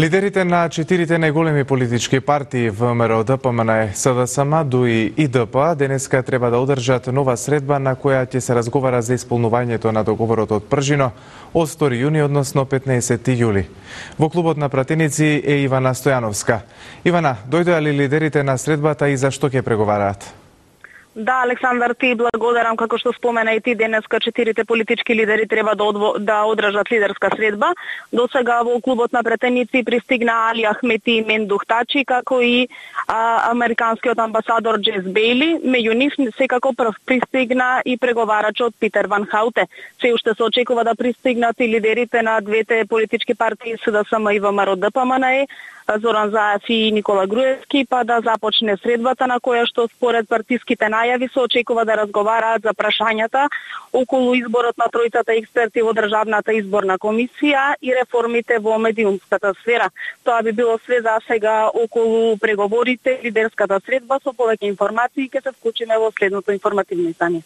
Лидерите на четирите најголеми политички партии ВМРО, ДПМН, СДСМ, ДУИ и ДП денеска треба да одржат нова средба на која ќе се разговара за исполнувањето на договорот од Пржино од 2 јуни, односно 15 јули. Во клубот на пратеници е Ивана Стојановска. Ивана, дојдоа ли лидерите на средбата и за што ќе преговараат? Да, Александар, ти благодарам, како што спомена и ти, денеска четирите политички лидери треба да одржат лидерска средба. До сега во клубот на пратеници пристигна Али Ахмети и Мендух Тачи, како и американскиот амбасадор Джес Бейли. Меѓу нив секако прв пристигна и преговарачот Питер Ван Хауте. Се уште се очекува да пристигнат и лидерите на двете политички партии СДСМ и ВМРО ДПМН, Зоран Заев и Никола Груевски, па да започне средбата на која што според партиските најави се очекува да разговараат за прашањата околу изборот на тројцата експерти во Државната изборна комисија и реформите во медиумската сфера. Тоа би било све за сега околу преговорите, лидерската средба. Со повеќе информации ќе се вклучиме во следното информативно издание.